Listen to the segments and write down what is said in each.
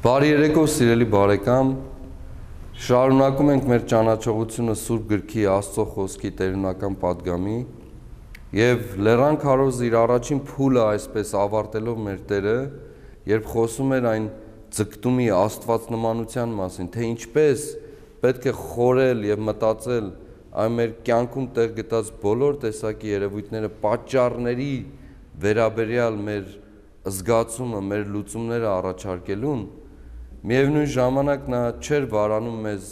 Բարի երեկո, սիրելի բարեկամ, շարունակում ենք մեր ճանաչողությունը Սուրբ Գրքի Աստծո խոսքի տերունական պատգամի եւ Լեռան քարոզը իր առաջին փուլը այսպես ավարտելով մեր Տերը, երբ խոսում էր այն ձգտումի աստվածնմանության մասին, թե ինչպես պետք է խորել եւ մտածել այն մեր կյանքում տեղ գտած բոլոր տեսակի երևույթները պատճառների վերաբերյալ մեր զգացումը, մեր լուծումները առաջարկելուն, միևնույն ժամանակ նա չէր վարանում մեզ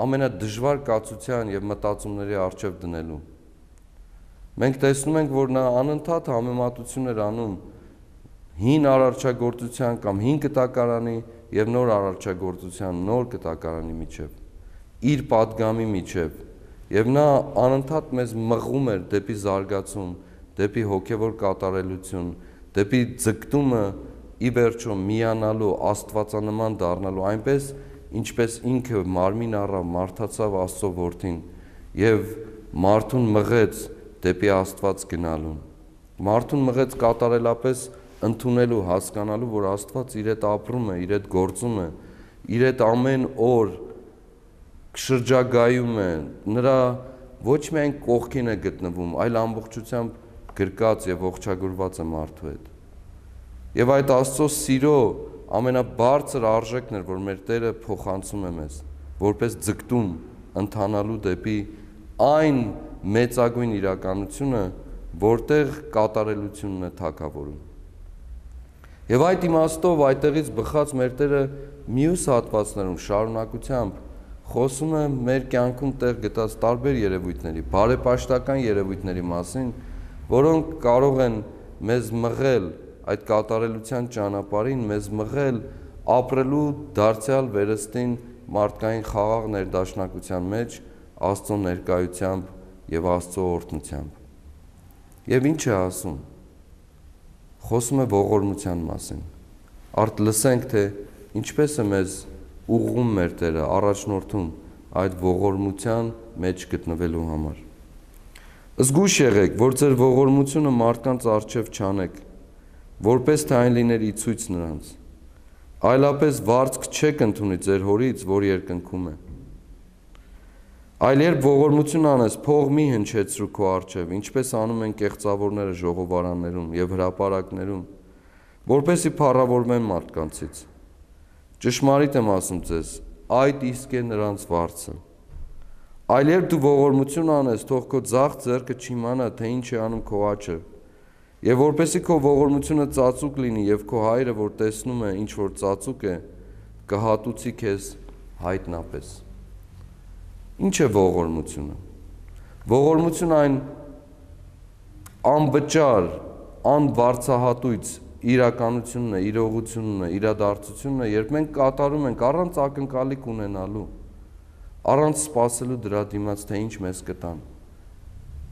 ամենադժվար կացության եւ մտածումների առջև դնելու։ Մենք տեսնում ենք, որ նա անընդհատ համեմատություն էր անում հին արարչագործության կամ հին կտակարանի եւ նոր արարչագործության, նոր կտակարանի միջև, իր պատգամի միջև, եւ նա անընդհատ մեզ մղում էր դեպի զարգացում, դեպի հոգեվոր կատարելություն, դեպի ձգտումը ի վերջո միանալու, աստվածանման դառնալու, այնպես ինչպես ինքը մարմին առավ, մարդացավ Աստծո որդին եւ մարդուն մղեց դեպի Աստված գնալուն։ Մարդուն մղեց կատարելապես ընդունելու, հասկանալու, որ Աստված իր հետ ապրում է, իր հետ գործում է, իր հետ ամեն օր շրջագայում է, նրա ոչ միայն կողքին է գտնվում, այլ ամբողջությամբ գրկած եւ ողջագուրված է մարդու հետ։ Եվ այդ Աստծո սիրո ամենաբարձր արժեքն էր, որ մեր Տերը փոխանցում է մեզ, որպես ձգտում ընթանալու դեպի այն մեծագույն իրականությունը, որտեղ կատարելությունն է թագավորում։ Եվ այդ իմաստով այդտեղից բխած մեր Տերը մյուս հատվածներում շարունակությամբ խոսում է մեր կյանքում տեղ գտած տարբեր երևույթների, բարեպաշտական երևույթների մասին, որոնք կարող են մեզ մղել այդ կատարելության ճանապարհին, մեզ մղել ապրելու դարձյալ վերստին մարդկային խաղաղ ներդաշնակության մեջ Աստծո ներկայությամբ եւ Աստծո օրհնությամբ։ Եվ ինչ է ասում։ Խոսում է ողորմության մասին։ Արդ լսենք, թե ինչպես է մեզ ուղղում մեր Տերը, առաջնորդում այդ ողորմության մեջ գտնվելու համար։ Զգույշ եղեք, որ ձեր ողորմությունը մարդկանց առջև չանեք, որպես թե այն լիներ ի ցույց նրանց, այլապես վարձք չեք ընդունի ձեր հորից, որ երկնքում է։ Այլ երբ ողորմություն անես, փող մի հնչեցրու քո առջև, ինչպես անում են կեղծավորները ժողովարաններում եւ հրապարակներում, որպեսզի փառավորվեն մարդկանցից։ Ճշմարիտ եմ ասում ձեզ, այդ իսկ է նրանց վարձը։ Այլ երբ դու ողորմություն անես, թող քո ձախ ձեռքը չիմանա, թե ինչ է անում քո աջը, եւ որպեսզի քո ողորմությունը ծածուկ լինի եւ քո հայրը, որ տեսնում է, ինչ որ ծածուկ է, կհատուցի քեզ հայտնապես։ Ինչ է ողորմությունը։ Ողորմությունը այն անվճար, անբարձահատույց իրականությունն է, իրողությունն է, իրադարձությունն է, երբ մենք կատարում ենք առանց ակնկալիք ունենալու, առանց սպասելու դրա դիմաց, թե ինչ մեզ կտան։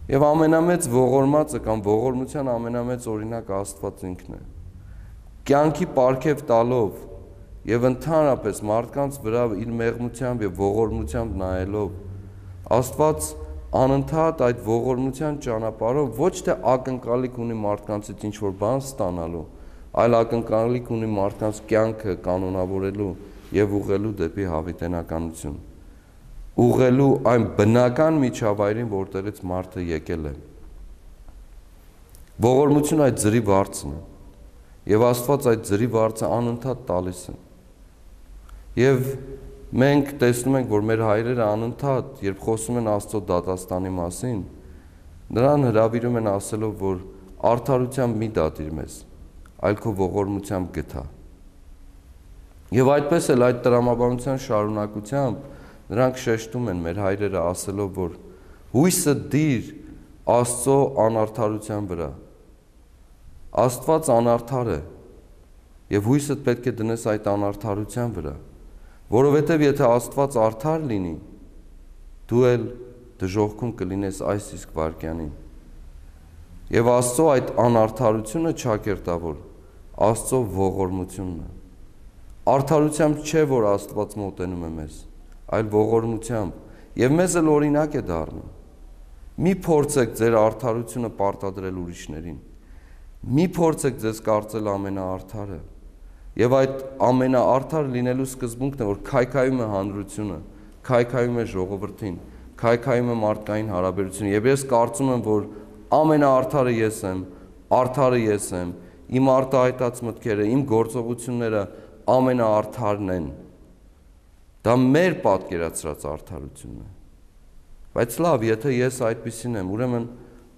Եվ ամենամեծ ողորմածը կամ ողորմության ամենամեծ օրինակ Աստված ինքն է։ Կյանքի պարգև տալով եւ ընդհանրապես մարդկանց վրա իր մեղմությամբ եւ ողորմությամբ նայելով, Աստված անընդհատ այդ ողորմության ճանապարհով ոչ թե ակնկալիք ունի մարդկանցից ինչ որ բան ստանալու, այլ ակնկալիք ունի մարդկանց կյանքը կանոնավորելու եւ ուղղելու դեպի հավիտենականություն, ուղղելու այն բնական միջավայրին, որտեղից մարդը եկել է։ Ողորմությունը այդ ձրի վարձն է, եւ Աստված այդ ձրի վարձը անընդհատ տալիս է։ Եվ մենք տեսնում ենք, որ մեր հայրերը անընդհատ, երբ խոսում են Աստծո դատաստանի մասին, նրան հրավիրում են ասելով, որ արդարությամբ մի դատիր մեզ, այլ քո ողորմությամբ գթա։ Եվ այդպես էլ այդ տրամաբանության շարունակությամբ նրանք շեշտում են մեր հայրերը ասելով, որ հույսը դիր Աստծո անարդարության վրա։ Աստված անարդար է, եւ հույսդ պետք է դնես այդ անարդարության վրա, որովհետեւ եթե Աստված արդար լինի, դու էլ դժոխքում կլինես այս իսկ վայրկյանին։ Եվ Աստծո այդ անարդարությունը ճակերտավոր Աստծո ողորմությունն է։ Արդարությամբ չէ, որ Աստված մոտենում է մեզ, այլ ողորմությամբ, եւ մեզ էլ օրինակ է դառնում։ Մի փորձեք ձեր արդարությունը պարտադրել ուրիշներին։ Մի փորձեք ձեզ կարծել ամենաարդարը, Եվ այդ ամենաարդար լինելու սկզբունքն է, որ քայքայում է հանրությունը, քայքայում է ժողովրդին, քայքայում է մարդկային հարաբերությունը։ Եվ ես կարծում եմ, որ ամենաարդարը ես եմ, արդարը ես եմ, իմ արտահայտած մտքերը, իմ գործողությունները ամենաարդարն են։ Դա մեր պատկերացրած արդարությունն է։ Բայց լավ, եթե ես այդպիսին եմ, ուրեմն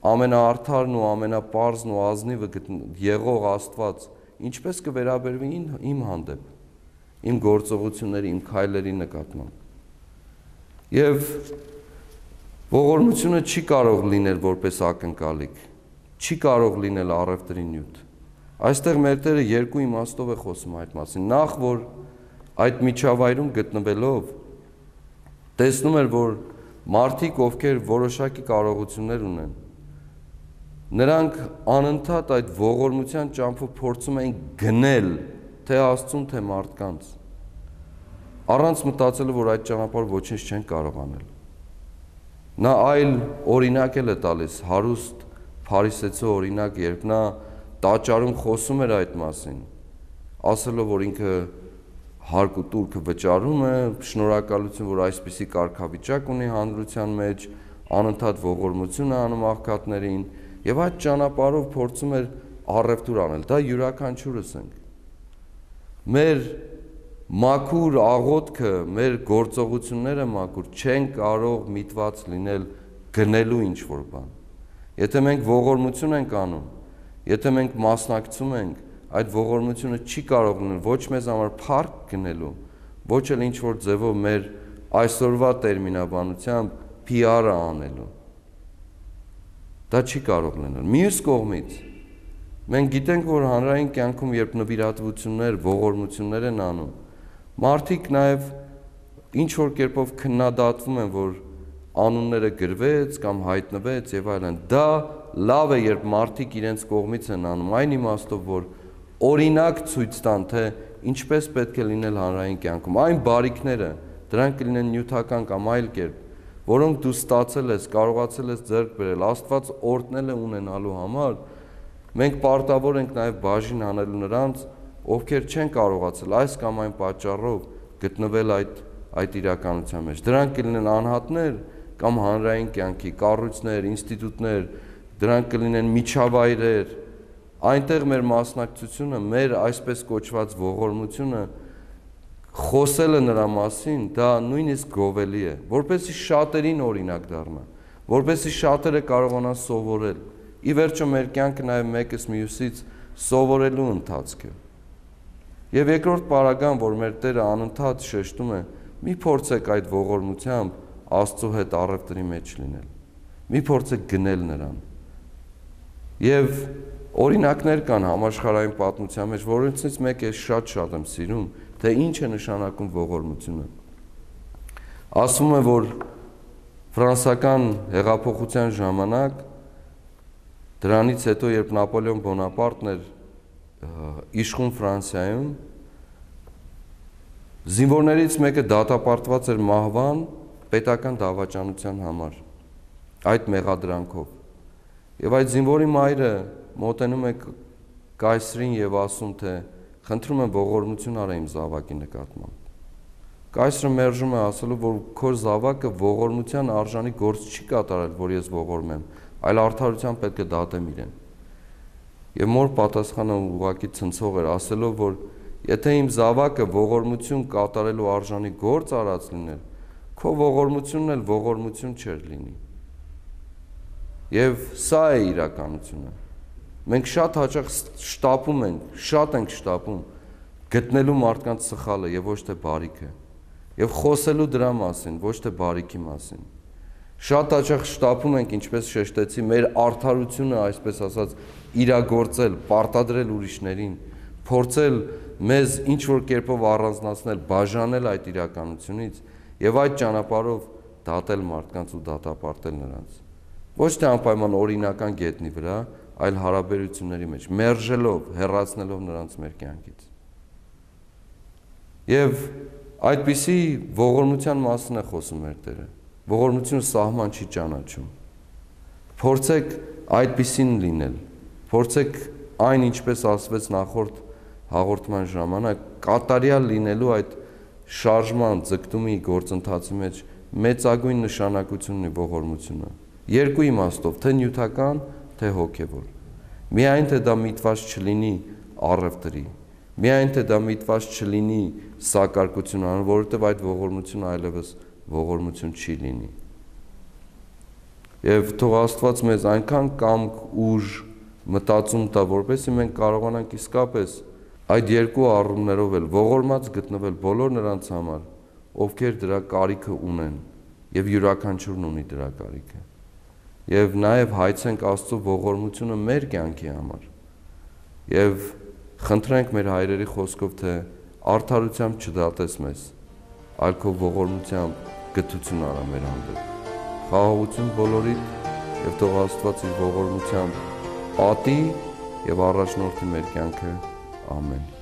ամենաարդարն ու ամենապարզն ու ազնիվը եղող Աստված ինչպես կվերաբերվի իմ հանդեպ, իմ գործողությունների, իմ քայլերի նկատմամբ։ Եվ ողորմությունը չի կարող լինել որպես ակնկալիք, չի կարող լինել առևտրի նյութ։ Այստեղ մեր Տերը երկու իմաստով է խոսում այդ մասին։ Նախ, որ այդ միջավայրում գտնվելով տեսնում էր, որ մարդիկ, ովքեր որոշակի կարողություններ ունեն, նրանք անընդհատ այդ ողորմության ճամփով փորձում էին գնել թե Աստծուն, թե մարդկանց, առանց մտածելու, որ այդ ճանապարհով ոչինչ չեն կարող անել։ Նա այլ օրինակ է տալիս, հարուստ փարիսեցու օրինակ, երբ նա տաճարում խոսում էր այդ մասին, ասելով, որ ինքը հարկ ու տուրքը վճարում է, շնորհակալություն, որ այսպիսի կարգավիճակ ունի հանրության մեջ, անընդհատ ողորմություն է անում աղքատներին, եւ այդ ճանապարհով փորձում էր առևտուր անել։ Դա յուրաքանչյուրս ենք։ Մեր մաքուր աղոթքը, մեր գործողությունները մաքուր չեն կարող միտված լինել գնելու ինչ-որ բան։ Եթե մենք ողորմություն ենք անում, եթե մենք մասնակցում ենք, այդ ողորմությունը չի կարող լինել ոչ մեզ համար փառք գնելու, ոչ էլ ինչ-որ ձևով մեր այսօրվա տերմինաբանությամբ PR-ը անելու։ Դա չի կարող լինել։ Մյուս կողմից մենք գիտենք, որ հանրային կյանքում, երբ նվիրատվություններ, ողորմություններ են անում, մարդիկ նաև ինչ-որ կերպով քննադատվում են, որ անունները գրվեց կամ հայտնվեց եւ այլն։ Դա լավ է, երբ մարդիկ իրենց կողմից են անում, այն իմաստով, որ օրինակ ցույց տան, թե ինչպես պետք է լինել հանրային կյանքում։ Այն բարիքները, դրանք կլինեն նյութական կամ այլ կերպ, որոնք դու ստացել ես, կարողացել ես ձեռք բերել, Աստված օրհնել է ունենալու համար, մենք պարտավոր ենք նաև բաժին անելու նրանց, ովքեր չեն կարողացել այս կամ այն պատճառով գտնվել այդ իրականության մեջ։ Դրանք կլինեն անհատներ կամ հանրային կյանքի կառույցներ, ինստիտուտներ, դրանք կլինեն միջավայրեր, այնտեղ մեր մասնակցությունը, մեր այսպես կոչված ողորմությունը, խոսելը նրա մասին, դա նույնիսկ գովելի է, որպեսզի շատերին օրինակ դառնա, որպեսզի շատերը կարողանան սովորել։ Ի վերջո մեր կյանքը նաև մեկս մյուսից սովորելու ընթացք է։ Եվ երկրորդ պարագան, որ մեր Տերը անընդհատ շեշտում է, մի փորձեք այդ ողորմությամբ Աստծո հետ առևտրի մեջ լինել, մի փորձեք գնել նրան։ Եվ օրինակներ կան համաշխարհային պատմության մեջ, որոնցից մեկը շատ եմ սիրում, թե ինչ է նշանակում ողորմությունը։ Ասվում է, որ ֆրանսիական հեղափոխության ժամանակ, դրանից հետո, երբ Նապոլեոն Բոնապարտն էր իշխում Ֆրանսիայում, զինվորներից մեկը դատապարտված էր մահվան պետական դավաճանության համար, այդ մեղադրանքով։ Եվ այդ զինվորի մայրը մոտենում է կայսրին եւ ասում, թե խնդրում եմ ողորմություն արա իմ զավակի նկատմամբ։ Կայսրը մերժում է, ասելով, որ քո զավակը ողորմության արժանի գործ չի կատարել, որ ես ողորմեմ, այլ արդարությամբ պետք է դատեմ իրեն։ Եվ մոր պատասխանը ուղղակի ցնցող էր, ասելով, որ եթե իմ զավակը ողորմություն կատարելու արժանի գործ արած լիներ, քո ողորմությունն էլ ողորմություն չէր լինի։ Եվ սա է իրականությունը։ Մենք շատ հաճախ շտապում ենք, շատ ենք շտապում գտնելու մարդկանց սխալը եւ ոչ թե բարիքը, եւ խոսելու դրա մասին, ոչ թե բարիքի մասին։ Շատ հաճախ շտապում ենք, ինչպես շեշտեցի, մեր արդարությունը, այսպես ասած, իրագործել, պարտադրել ուրիշներին, փորձել մեզ ինչ որ կերպով առանձնացնել, բաժանել այդ իրականությունից եւ այդ ճանապարհով դատել մարդկանց ու դատապարտել նրանց։ Ոչ թե անպայման օրինական գետնի վրա, այլ հարաբերությունների մեջ, մերժելով, հեռացնելով նրանց մեր կյանքից։ Եվ այդպիսի ողորմության մասին է խոսում մեր Տերը։ Ողորմությունը սահման չի ճանաչում։ Փորձեք այդպիսին լինել, փորձեք այն, ինչպես ասվեց նախորդ հաղորդման ժամանակ կատարյալ լինելու այդ շարժման ձգտումի գործընթացի մեջ մեծագույն նշանակություն ունի ողորմությունը։ Երկու իմաստով, թե նյութական, թե հոգևոր։ Միայն թե դա միտված չլինի առևտրի, միայն թե դա միտված չլինի սակարկություն անելու, որովհետև այդ ողորմությունը այլևս ողորմություն չի լինի։ Եվ թող Աստված մեզ այնքան կամք, ուժ, մտածում տա, որպեսզի մենք կարողանանք իսկապես այդ երկու առումներով էլ ողորմած գտնվել բոլոր նրանց համար, ովքեր դրա կարիքը ունեն, եւ յուրաքանչյուրն ունի դրա կարիքը։ Եվ նաեւ հայցենք Աստծո ողորմությունը մեր կյանքի համար։ Եվ խնդրենք մեր հայրերի խոսքով, թե արդարությամբ չդատես մեզ, այլ քո ողորմությամբ գթություն արա մեր հանդեպ։ Խաղաղություն բոլորիդ, եւ թող Աստված իր ողորմությամբ պատի եւ առաջնորդի մեր կյանքը։ Ամեն։